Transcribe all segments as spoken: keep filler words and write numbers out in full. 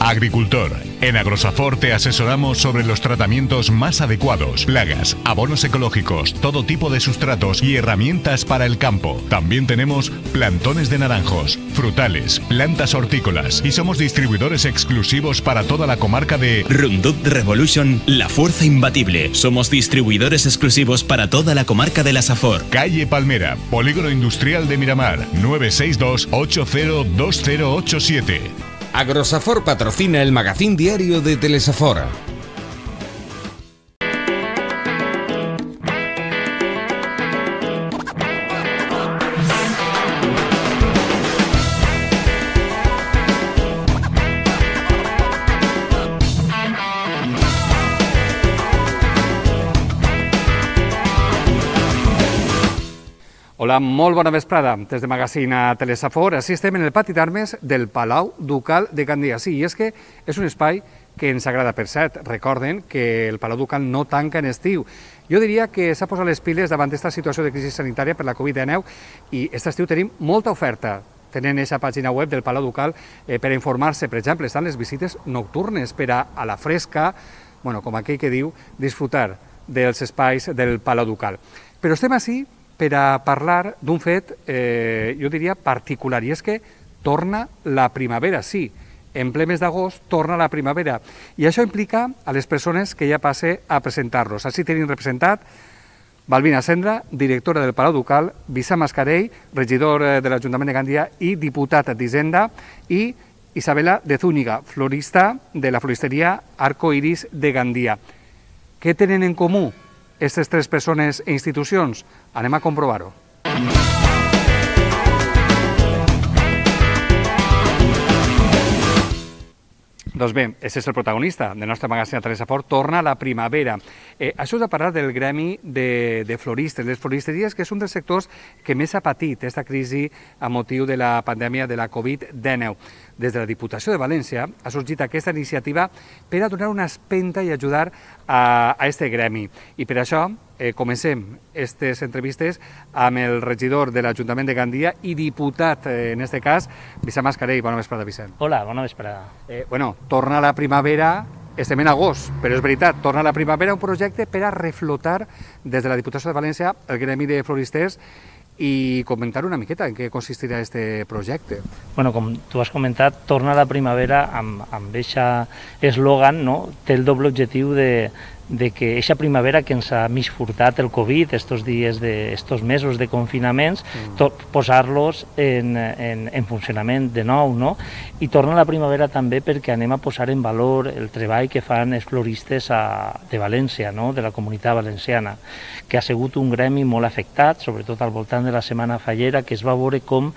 Agricultor. En Agrosafor te asesoramos sobre los tratamientos más adecuados, plagas, abonos ecológicos, todo tipo de sustratos y herramientas para el campo. También tenemos plantones de naranjos, frutales, plantas hortícolas y somos distribuidores exclusivos para toda la comarca de Roundup Revolution, la fuerza imbatible. Somos distribuidores exclusivos para toda la comarca de la Safor. Calle Palmera, Polígono Industrial de Miramar, nueve seis dos, ocho cero dos cero ocho siete. Agrosafor patrocina el magazín diario de Telesafor. Hola, molt bona vesprada. Des de Magazín a Telesafor, així estem en el pati d'armes del Palau Ducal de Gandia. Sí, i és que és un espai que ens agrada. Per cert, recorden que el Palau Ducal no tanca en estiu. Jo diria que s'ha posat les piles davant d'esta situació de crisi sanitària per la Covid dinou i aquest estiu tenim molta oferta. Tenen aquesta pàgina web del Palau Ducal eh, per informar-se. Per exemple, estan les visites nocturnes per a, a la fresca, bueno, com aquell que diu, disfrutar dels espais del Palau Ducal. Però estem ací per a parlar d'un fet, eh, jo diria, particular, i és que torna la primavera, sí, en ple mes d'agost torna la primavera, i això implica a les persones que ja passe a presentar-los. Així tenim representat Balbina Sendra, directora del Palau Ducal, Vicent Mascarell, regidor de l'Ajuntament de Gandia i diputat d'Hisenda, i Isabela de Zúñiga, florista de la floristeria Arco Iris de Gandia. Què tenen en comú aquestes tres persones e institucions? Anem a comprovar-ho. Doncs bé, aquest és el protagonista del nostre magazín a Telesafor, torna la primavera. Eh, això és a parlar del gremi de, de floristes, les floristeries, que és un dels sectors que més ha patit aquesta crisi a motiu de la pandèmia de la Covid dinou. Des de la Diputació de València ha sorgit aquesta iniciativa per a donar una espenta i ajudar a aquest gremi. I per això eh, comencem aquestes entrevistes amb el regidor de l'Ajuntament de Gandia i diputat, eh, en aquest cas, Vicent Mascarell. Bona vesprada, Vicent. Hola, bona vesprada. Eh, bueno, torna la primavera, estem en agost, però és veritat, torna la primavera, un projecte per a reflotar des de la Diputació de València el gremi de floristers i comentar una miqueta en què consistirà aquest projecte. Bueno, com tu has comentat, torna la primavera amb aquest eslògan, no? Té el doble objectiu de, de que aquesta primavera que ens ha mig furtat el Covid, estos dies de, estos mesos de confinaments, mm. posar-los en, en, en funcionament de nou, no? I torna la primavera també perquè anem a posar en valor el treball que fan els floristes a, de València, no? De la comunitat valenciana, que ha sigut un gremi molt afectat, sobretot al voltant de la Setmana Fallera, que es va veure com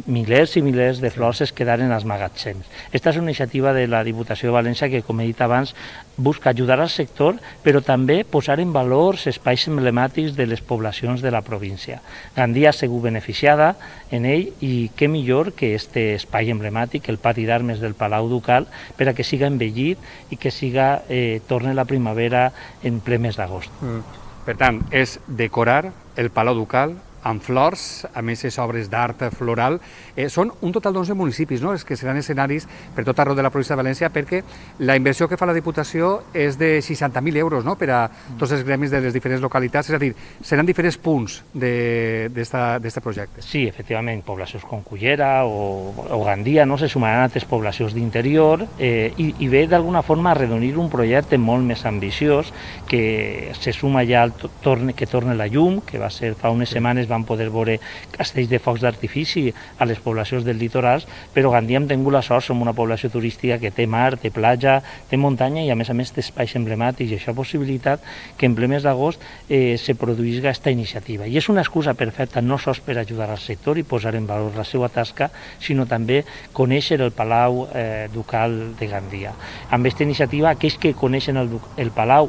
milers i milers de flors es quedaren als magatzems. Aquesta és una iniciativa de la Diputació de València que, com he dit abans, busca ajudar al sector, però també posar en valor els espais emblemàtics de les poblacions de la província. Gandia ha sigut beneficiada en ell i què millor que aquest espai emblemàtic, el pati d'armes del Palau Ducal, per a que siga envellit i que siga, eh, torni la primavera en ple mes d'agost. Mm. Per tant, és decorar el Palau Ducal amb flors, amb aquestes obres d'art floral. Eh, són un total d'onze municipis, no?, els que seran escenaris per tot arreu de la província de València, perquè la inversió que fa la Diputació és de seixanta mil euros, no?, per a tots els gremis de les diferents localitats, és a dir, seran diferents punts d'aquest projecte. Sí, efectivament, poblacions com Cullera o, o Gandia, no?, se sumaran a altres poblacions d'interior eh, i, i ve d'alguna forma a redonir un projecte molt més ambiciós que se suma ja al torne, que torna la llum, que va ser fa unes setmanes van poder veure castells de focs d'artifici a les poblacions del litoral, però Gandia hem tingut la sort, som una població turística que té mar, té platja, té muntanya i a més a més té espais emblemàtics i això ha possibilitat que en ple mes d'agost eh, se produïsca aquesta iniciativa. I és una excusa perfecta no sols per ajudar al sector i posar en valor la seva tasca, sinó també conèixer el Palau eh, Ducal de Gandia. Amb aquesta iniciativa, aquells que coneixen el, el Palau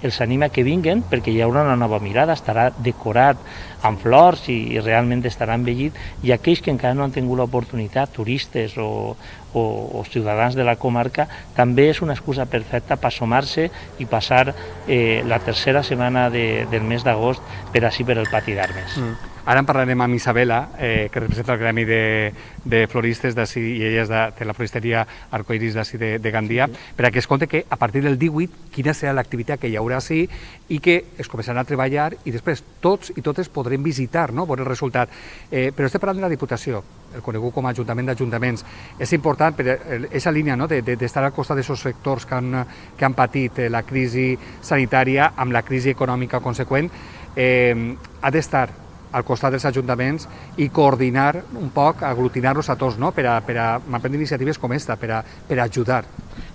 els anima que vinguen perquè hi haurà una nova mirada, estarà decorat amb flors i, i realment estarà envellit, i aquells que encara no han tingut l'oportunitat, turistes o, o, o ciutadans de la comarca, també és una excusa perfecta per sumar-se i passar eh, la tercera setmana de, del mes d'agost per així per el pati d'armes. Mm. Ara en parlarem amb Isabela, eh, que representa el gremi de, de floristes d'ací, i ella és de, de la floristeria Arcoiris d'ací de, de Gandia, sí. perquè es compte que a partir del divuit quina serà l'activitat que hi haurà ací i que es començaran a treballar i després tots i totes podrem visitar, no?, veure el resultat. Eh, però estem parlant de la Diputació, el conegut com a Ajuntament d'Ajuntaments. És important per aquesta línia, no?, d'estar al costat d'aquests sectors que han, que han patit la crisi sanitària amb la crisi econòmica conseqüent, eh, ha d'estar al costat dels ajuntaments i coordinar un poc, aglutinar-los a tots, no?, per a, per a prendre iniciatives com aquesta, per a, per a ajudar.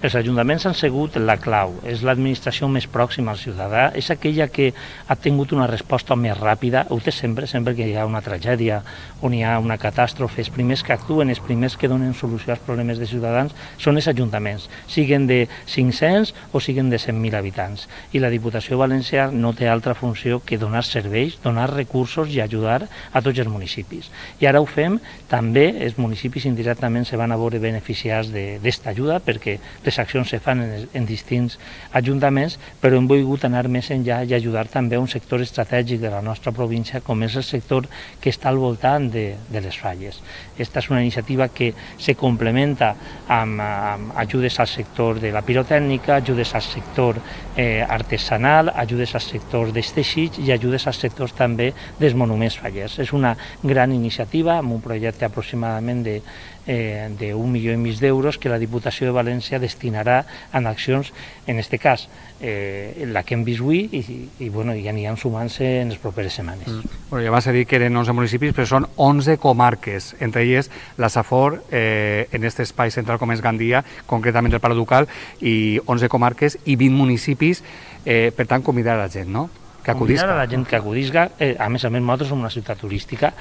Els ajuntaments han sigut la clau, és l'administració més pròxima al ciutadà, és aquella que ha tingut una resposta més ràpida, ho té sempre, sempre que hi ha una tragèdia on hi ha una catàstrofe, els primers que actuen, els primers que donen solució als problemes de ciutadans són els ajuntaments, siguen de cinc-cents o siguen de cent mil habitants. I la Diputació Valenciana no té altra funció que donar serveis, donar recursos i ajudar a tots els municipis. I ara ho fem, també els municipis indirectament se van a veure beneficiats d'esta ajuda, perquè les accions se fan en, en distints ajuntaments, però hem volgut anar més enllà i ajudar també a un sector estratègic de la nostra província, com és el sector que està al voltant de, de les falles. Esta és una iniciativa que se complementa amb, amb ajudes al sector de la pirotècnica, ajudes al sector eh, artesanal, ajudes al sector dels teixits i ajudes als sectors també dels monuments fallers. És una gran iniciativa amb un projecte aproximadament de eh, d'un milió i mig d'euros que la Diputació de València destinarà en accions, en aquest cas, eh, la que hem vist avui i, i, bueno, i aniran sumant-se en les properes setmanes. Mm. Bueno, ja vas a dir que eren onze municipis, però són onze comarques, entre elles la Safor, eh, en aquest espai central com és Gandia, concretament el Palau Ducal, i onze comarques i vint municipis, eh, per tant, convidar a la gent, no?, que acudisca. Convidar a la gent que acudisca, eh, a més a més, nosaltres som una ciutat turística,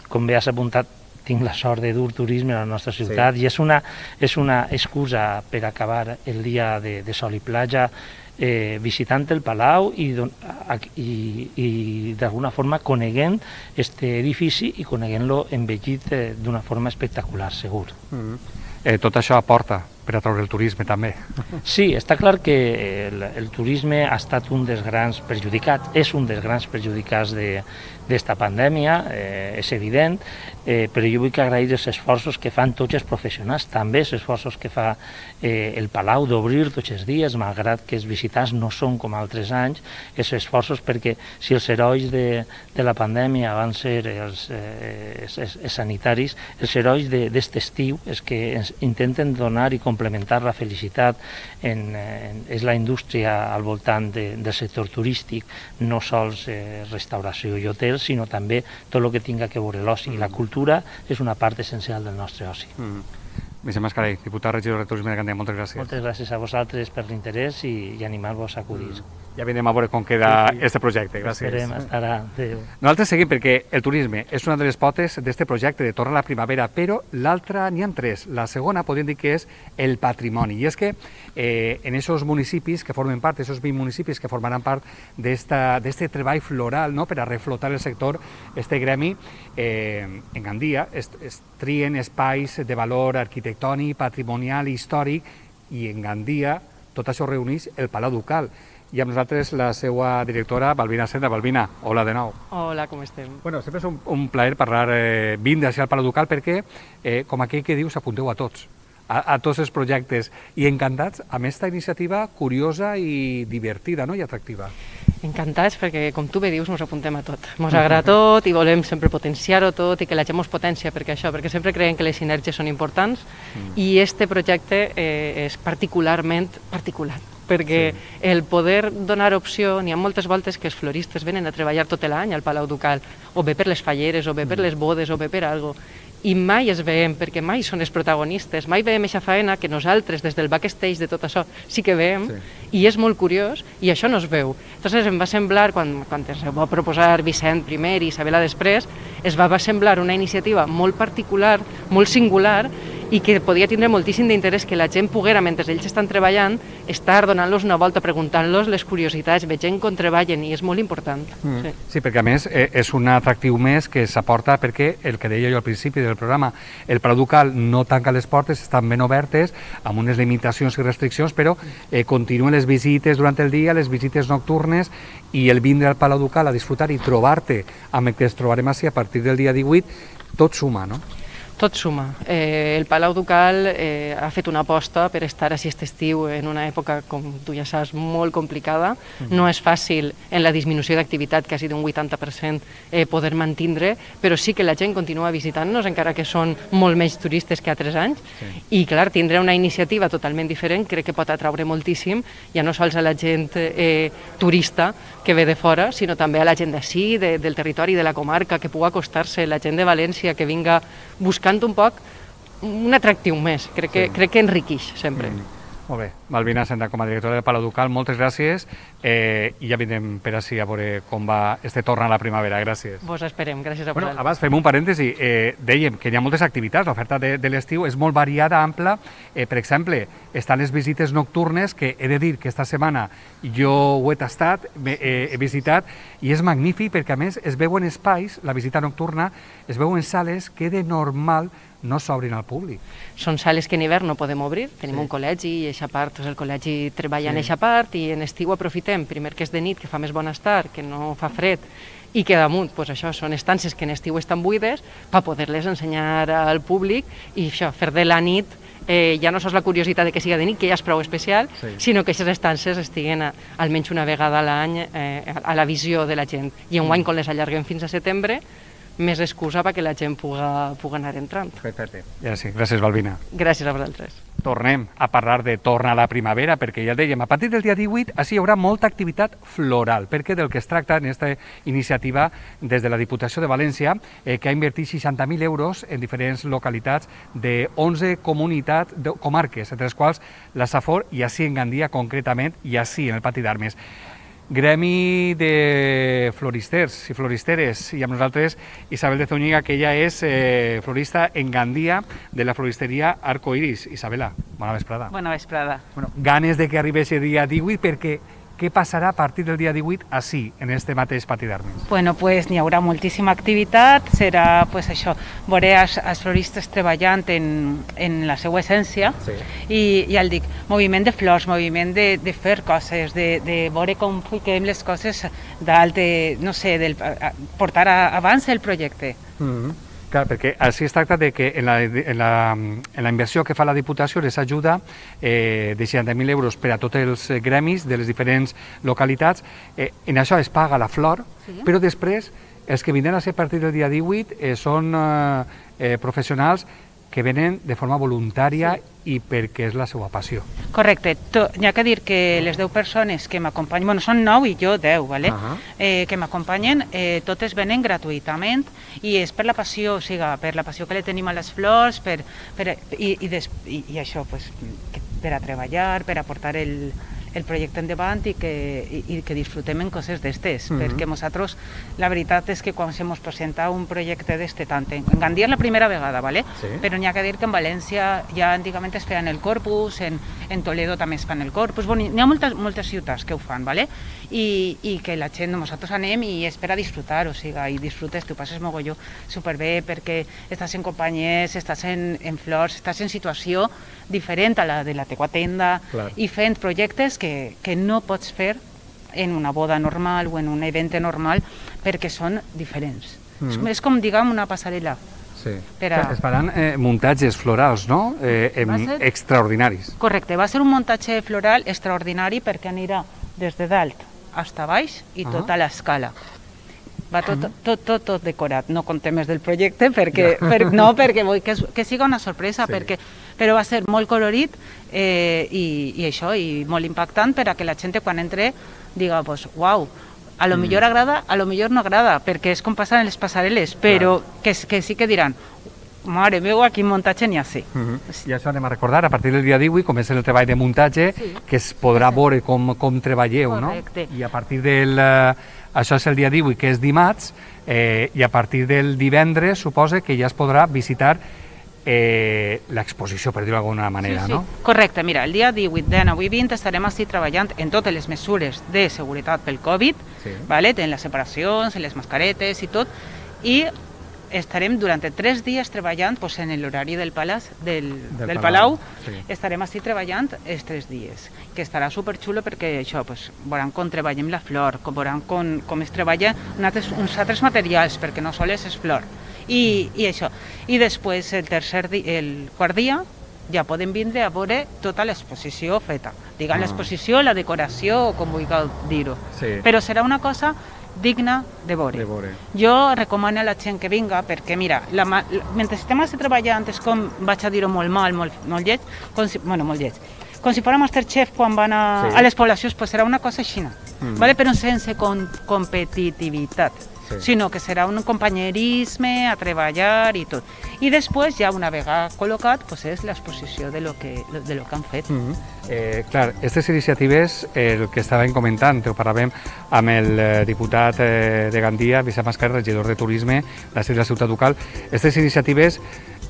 com bé has apuntat, tinc la sort de dur turisme a la nostra ciutat, sí. I és una, és una excusa per acabar el dia de, de sol i platja eh, visitant el Palau i, i, i d'alguna forma coneguent aquest edifici i coneguent-lo envellit eh, d'una forma espectacular, segur. Mm-hmm. Eh, tot això aporta per atraure el turisme també. Sí, està clar que el, el turisme ha estat un dels grans perjudicats, és un dels grans perjudicats d'esta pandèmia, eh, és evident, eh, però jo vull que agrair els esforços que fan tots els professionals, també els esforços que fa eh, el Palau d'obrir tots els dies, malgrat que els visitants no són com altres anys, els esforços perquè si els herois de, de la pandèmia van ser els, eh, els, els, els sanitaris, els herois d'aquest estiu és que ens intenten donar i complementar la felicitat en, en, és la indústria al voltant de, del sector turístic, no sols eh, restauració i hotels, sinó també tot el que tinga que veure l'oci. Mm. La cultura és una part essencial del nostre oci. Mm. Vicent Mascarell, diputat regidor de Turisme de Gandia, moltes gràcies. Moltes gràcies a vosaltres per l'interès i, i animar-vos a acudir. Mm. Ja vindrem a veure com queda sí, sí. este projecte. Gràcies. Esperem estarà. Adéu. Nosaltres seguim perquè el turisme és una de les potes d'este projecte de Torna a la Primavera, però l'altra n'hi ha tres. La segona podríem dir que és el patrimoni. I és que eh, en aquests municipis que formen part, aquests vint municipis que formaran part d'este treball floral, no?, per a reflotar el sector, este gremi, eh, en Gandia, es, es trien espais de valor arquitectònic, patrimonial i històric, i en Gandia tot això reuneix el Palau Ducal. I amb nosaltres la seva directora, Balbina Senda. Balbina, hola de nou. Hola, com estem? Bueno, sempre és un, un plaer parlar, eh, vindre al Palau Ducal perquè, eh, com aquell que diu, s'apunteu a tots, a, a tots els projectes, i encantats amb aquesta iniciativa curiosa i divertida, no?, i atractiva. Encantats perquè, com tu bé dius, ens apuntem a tot. Ens agrada tot i volem sempre potenciar-ho tot i que la gent ens potencia perquè això, perquè sempre creiem que les sinergies són importants mm. i este projecte eh, és particularment particular, perquè sí. el poder donar opció, n'hi ha moltes voltes que els floristes venen a treballar tot l'any al Palau Ducal, o bé per les falleres, o bé per les bodes, o bé per alguna cosa, i mai es veiem, perquè mai són els protagonistes, mai veiem aquesta faena que nosaltres, des del backstage de tot això, sí que veiem, sí. i és molt curiós, i això no es veu. Entonces em va semblar, quan, quan ens va proposar Vicent primer i Isabela després, es va, va semblar una iniciativa molt particular, molt singular, i que podria tindre moltíssim d'interès que la gent poguera, mentre ells estan treballant, estar donant-los una volta, preguntant-los les curiositats, veient com treballen, i és molt important. Mm. Sí. Sí, perquè a més eh, és un atractiu més que s'aporta perquè, el que deia jo al principi del programa, el Palau Ducal no tanca les portes, estan ben obertes, amb unes limitacions i restriccions, però eh, continuen les visites durant el dia, les visites nocturnes, i el vindre al Palau Ducal a disfrutar i trobar-te amb el que ens trobarem així a partir del dia divuit, tot suma, no? Tot suma. Eh, el Palau Ducal eh, ha fet una aposta per estar així aquest estiu en una època, com tu ja saps, molt complicada. Mm-hmm. No és fàcil en la disminució d'activitat, quasi d'un vuitanta per cent, eh, poder mantindre, però sí que la gent continua visitant-nos, encara que són molt menys turistes que altres anys. Sí. I, clar, tindre una iniciativa totalment diferent crec que pot atraure moltíssim, ja no sols a la gent eh, turista que ve de fora, sinó també a la gent d'ací, de, del territori, de la comarca, que pugui acostar-se, la gent de València, que vinga buscant un poc un atractiu més. Crec que, sí. crec que enriqueix sempre. Mm. Molt bé. Malvina Senda, com a directora del Palau Ducal, moltes gràcies, eh, i ja vindrem per així a veure com va este torn a la primavera. Gràcies. Vos esperem, gràcies a bueno, vosaltres. Abans fem un parèntesi. Eh, dèiem que hi ha moltes activitats, l'oferta de, de l'estiu és molt variada, ampla. Eh, per exemple, estan les visites nocturnes, que he de dir que esta setmana jo ho he tastat, he, he visitat, i és magnífic perquè a més es veuen espais, la visita nocturna, es veuen sales que de normal no s'obrin al públic. Són sales que en hivern no podem obrir, tenim sí. un col·legi i eixa part, doncs el col·legi treballa sí. en eixa part, i en estiu aprofitem, primer que és de nit, que fa més bon estar, que no fa fred, i que damunt, doncs això, són estances que en estiu estan buides, per poder-les ensenyar al públic, i això, fer de la nit, eh, ja no sols la curiositat de que siga de nit, que ja és prou especial, sí. sinó que aquestes estances estiguen a, almenys una vegada a l'any eh, a la visió de la gent. I enguany, quan les allarguem fins a setembre, més excusa perquè la gent puga, puga anar entrant. Perfecte. Ja sí. Gràcies, Balbina. Gràcies a vosaltres. Tornem a parlar de torna a la primavera, perquè ja dèiem, a partir del dia divuit així hi haurà molta activitat floral, perquè del que es tracta en aquesta iniciativa des de la Diputació de València, eh, que ha invertit seixanta mil euros en diferents localitats de onze comunitats, de, comarques, entre les quals la Safor, i així en Gandia concretament, i així en el Pati d'Armes. Gremi de floristers i floristeres, i amb nosaltres Isabel de Zúñiga, que ella és eh, florista en Gandia de la floristeria Arcoiris. Isabela, bona vesprada. Bona vesprada. Bueno, ganes de que arribi el dia divuit, perquè què passarà a partir del dia divuit així, en este mateix Pati d'Armes? Bueno, pues n'hi haurà moltíssima activitat, serà pues això, veure els, els floristes treballant en, en la seva essència, sí. i ja el dic, moviment de flors, moviment de, de fer coses, de, de veure com fiquem les coses dalt, de, no sé, del, portar a, abans el projecte. Mm-hmm. Clar, perquè així es tracta de que en la, en la, en la inversió que fa la Diputació les ajuda eh, de seixanta mil euros per a tots els gremis de les diferents localitats. Eh, en això es paga la flor, sí. però després els que vindran a ser a partir del dia divuit eh, són eh, professionals que venen de forma voluntària sí. i perquè és la seva passió. Correcte. N'hi ha que dir que les deu persones que m'acompanyen, bueno, són nou i jo deu, ¿vale? Uh -huh. eh, que m'acompanyen, eh, totes venen gratuïtament, i és per la passió, o sigui, per la passió que li tenim a les flors, per, per, i, i, des, i, i això, pues, per a treballar, per a portar el, el projecte endavant i que, i, i que disfrutem en coses d'estes, uh -huh. perquè nosaltres, la veritat és que quan se mos presenta un projecte d'este tant, en Gandia és la primera vegada, ¿vale? Sí. Però n'hi ha que dir que en València ja antigament es feien el Corpus, en, en Toledo també es fan el Corpus, bueno, n'hi ha moltes, moltes ciutats que ho fan, ¿vale? I, i que la gent, nosaltres anem i és per a disfrutar, o sigui, i disfrutes, tu passes mogolló superbé perquè estàs en companyies, estàs en, en flors, estàs en situació diferent a la de la teua tenda, clar. I fent projectes que, que no pots fer en una boda normal o en un event normal perquè són diferents. Mm-hmm. És com, diguem, una passarel·la. Sí. A... Es faran eh, muntatges florals, no? Eh, em, ser... extraordinaris. Correcte, va ser un muntatge floral extraordinari perquè anirà des de dalt fins a baix i uh -huh. tota l'escala. Va tot, tot, tot, tot, tot decorat, no contem més del projecte, perquè, no. per, no, perquè vull que, que siga una sorpresa, sí. perquè, però va ser molt colorit eh, i, i això, i molt impactant per a que la gent quan entre diga, pues, uau, a lo mm. millor agrada, a lo millor no agrada, perquè és com passen en les passarel·les, però que, que sí que diran, mare meva, quin muntatge n'hi ha, sí. Uh -huh. I això anem a recordar, a partir del dia divuit comença el treball de muntatge, sí. que es podrà sí. veure com, com treballeu, correcte. No? I a partir del... Uh, això és el dia divuit, que és dimarts, eh, i a partir del divendres suposa que ja es podrà visitar eh, l'exposició, per dir-ho d'alguna manera, sí, sí. no? Correcte, mira, el dia divuit, dinou i vint estarem així treballant en totes les mesures de seguretat pel Covid, sí. vale? En les separacions, en les mascaretes i tot, i estarem durant tres dies treballant pues, en l'horari del, palaç, del, del, del Palau, Palau, sí. estarem així treballant els tres dies, que estarà superxulo perquè això, pues, veuran com treballem la flor, com veuran com, com es treballa altres, uns altres materials, perquè no sols és flor. I, i això. I després, el tercer di, el quart dia, ja podem vindre a veure tota l'exposició feta. Diguem ah. l'exposició, la decoració, o com vulgueu dir-ho. Sí. Però serà una cosa digna de veure. de veure. Jo recomano a la gent que vinga perquè, mira, la, la, mentre estem així treballant és com, vaig a dir-ho molt mal, molt, molt lleig, com si, bueno, molt lleig, com si fora Masterchef quan van a, sí. a les poblacions, pues serà una cosa així, mm. vale? Però sense con, competitivitat. Sí. Sinó que serà un companyerisme a treballar i tot. I després, ja una vegada col·locat, pues és l'exposició de lo que, de lo que han fet. Mm-hmm. eh, clar, aquestes iniciatives, eh, el que estàvem comentant, ho parlàvem amb el eh, diputat eh, de Gandia, Vicent Mascarell, regidor de Turisme de la ciutat ducal, aquestes iniciatives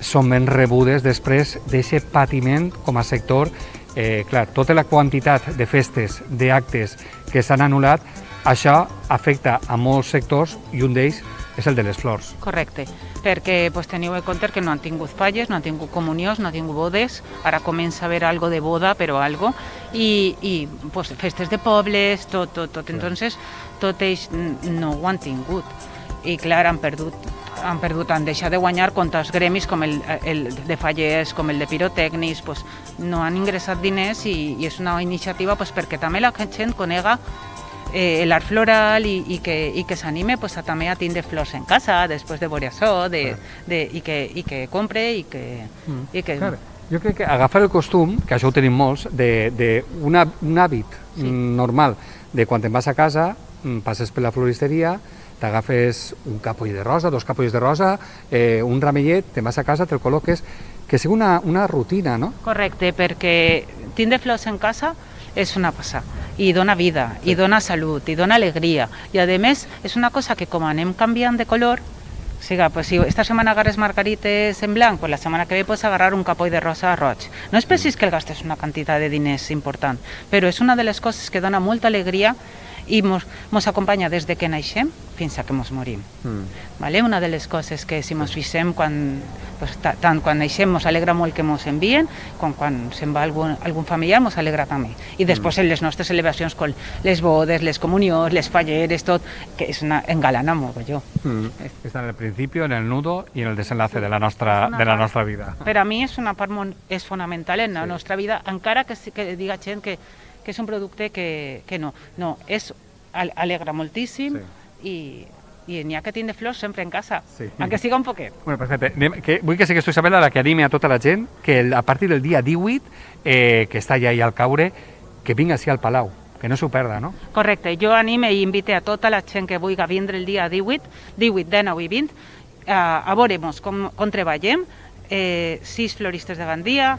són ben rebudes després d'aquest patiment com a sector. Eh, clar, tota la quantitat de festes, d'actes que s'han anul·lat, això afecta a molts sectors i un d'ells és el de les flors. Correcte, perquè pues, teniu en compte que no han tingut falles, no han tingut comunions, no han tingut bodes, ara comença a haver algo de boda, però algo, i, i pues, festes de pobles, tot, tot, tot. Entonces, tot ells no ho han tingut. I clar, han perdut, han perdut, han deixat de guanyar contra els gremis com el, el de fallers, com el de pirotècnics, pues, no han ingressat diners i, i és una iniciativa pues, perquè també la gent conega Eh, l'art floral i, i que, i que s'anime pues, a, també a tindre flors en casa després de veure això de, de, i, que, i que compre i que... Mm. I que... Clar, jo crec que agafar el costum, que això ho tenim molts, d'un hàbit sí. normal, de quan te'n vas a casa, passes per la floristeria, t'agafes un capoll de rosa, dos capolls de rosa, eh, un ramellet, te'n vas a casa, te'l col·loques, que sigui una, una rutina, no? Correcte, perquè tindre flors en casa és una passada, i dona vida, sí. i dona salut, i dona alegria, i a més és una cosa que com anem canviant de color, o sigui, pues, si esta setmana agarres margarites en blanc, pues la setmana que ve pots agarrar un capoll de rosa roig. No és precís que el gastes una quantitat de diners important, però és una de les coses que dona molta alegria i mos, mos acompanya des de que naixem fins a que mos morim. Mm. Vale? Una de les coses que si mos fixem quan, pues, tant quan naixem mos alegra molt que mos envien, com quan se'n va algun, algun familiar mos alegra també. I després mm. en les nostres celebracions com les bodes, les comunions, les falleres, tot, que és una engalana molt jo. Mm. Està en el principi, en el nudo i en el desenlace de la nostra, de la nostra vida. Per a mi és una part molt, és fonamental en la sí. nostra vida, encara que, que diga gent que que és un producte que, que no, no, és, alegra moltíssim sí. i, i n'hi ha que tindre flors sempre en casa, sí. aunque siga un poquet. Bueno, perfecte. Que, vull que sigues tu, Isabel, la que anime a tota la gent que a partir del dia divuit, eh, que està ja ahí al caure, que vinga així al Palau, que no s'ho perda, no? Correcte, jo anime i invite a tota la gent que vulgui vindre el dia divuit, divuit, dinou i vint, a, a veure com, com treballem, eh, sis floristes de Gandia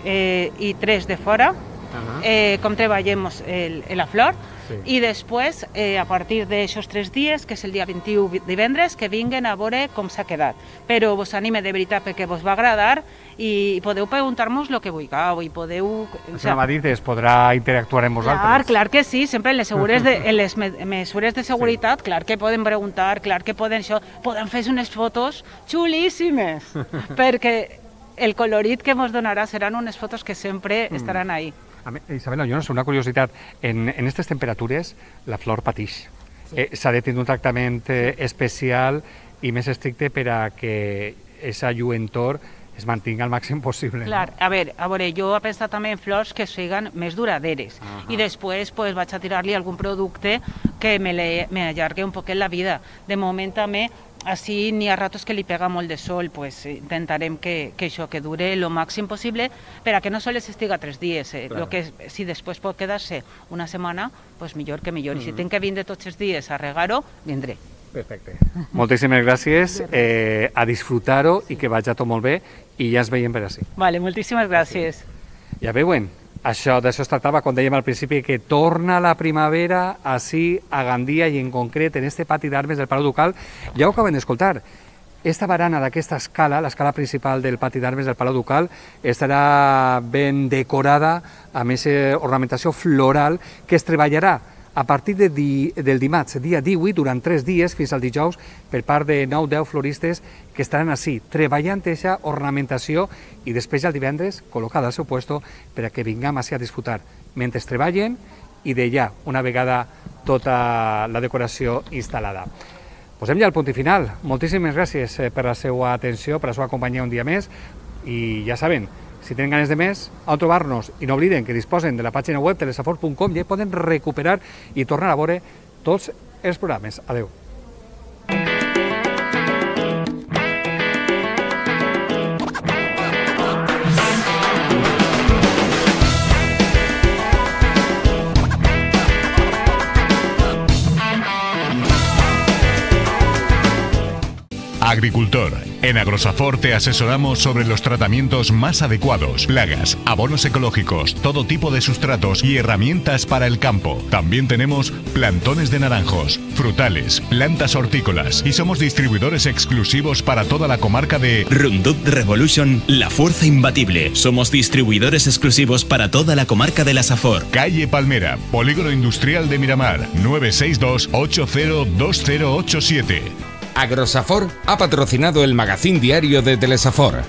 eh, i tres de fora, Uh-huh. eh, com treballem el, la flor sí. i després eh, a partir d'aixòs tres dies, que és el dia vint-i-u divendres, que vinguen a veure com s'ha quedat, però vos anime de veritat perquè vos va agradar i podeu preguntar-nos el que vulgueu i podeu... O sigui, m'ha dit, es podrà interactuar amb vosaltres. Clar, clar que sí, sempre en les, de, en les mesures de seguretat, sí. clar que poden preguntar, clar que poden això, poden fer unes fotos xulíssimes, perquè el colorit que ens donarà seran unes fotos que sempre mm. estaran ahí. Isabel, jo no sé, una curiositat, en aquestes temperatures la flor patix. Sí. Eh, S'ha de tenir un tractament eh, especial i més estricte per a que aquesta lluentor es mantinga al màxim possible. Clar, no? a veure, a veure, jo he pensat també en flors que siguin més duraderes uh -huh. i després pues, vaig a tirar-li algun producte que me, le, me allargui un poquet la vida. De moment també, així n'hi ha ratos que li pega molt de sol, pues, intentarem que, que això que dure el màxim possible per a que no sols estiga tres dies. Eh? Claro. Lo que, si després pot quedar-se una setmana, pues millor que millor. Uh -huh. I si tinc que vindre tots els dies a regar-ho, vindré. Perfecte. Moltíssimes gràcies, eh, a disfrutar-ho i que vagi tot molt bé i ja ens veiem per ací. Vale, moltíssimes gràcies. Ja veuen, això d'això es tractava, com dèiem al principi, que torna la primavera ací a Gandia i en concret en este pati d'armes del Palau Ducal. Ja ho acaben d'escoltar, esta barana d'aquesta escala, l'escala principal del pati d'armes del Palau Ducal, estarà ben decorada amb aquesta ornamentació floral que es treballarà a partir de di, del dimarts, dia divuit, durant tres dies, fins al dijous, per part de nou deu floristes que estaran així, treballant aquesta ornamentació i després el divendres, col·locada al seu puesto, per a que vinguem així a disfrutar, mentre treballen i d'allà, una vegada tota la decoració instal·lada. Posem ja el punt i final. Moltíssimes gràcies per la seva atenció, per la seva companyia un dia més, i ja saben, si tenen ganes de més, on trobar-nos, i no obliden que disposen de la pàgina web telesafor punt com i ja poden recuperar i tornar a veure tots els programes. Adeu. Agricultor. En Agrosafor te asesoramos sobre los tratamientos más adecuados, plagas, abonos ecológicos, todo tipo de sustratos y herramientas para el campo. También tenemos plantones de naranjos, frutales, plantas hortícolas y somos distribuidores exclusivos para toda la comarca de Roundup Revolution, la fuerza imbatible. Somos distribuidores exclusivos para toda la comarca de la Safor. Calle Palmera, Polígono Industrial de Miramar, nueve seis dos, ocho cero dos cero ocho siete. Agrosafor ha patrocinado el magazín diario de Telesafor.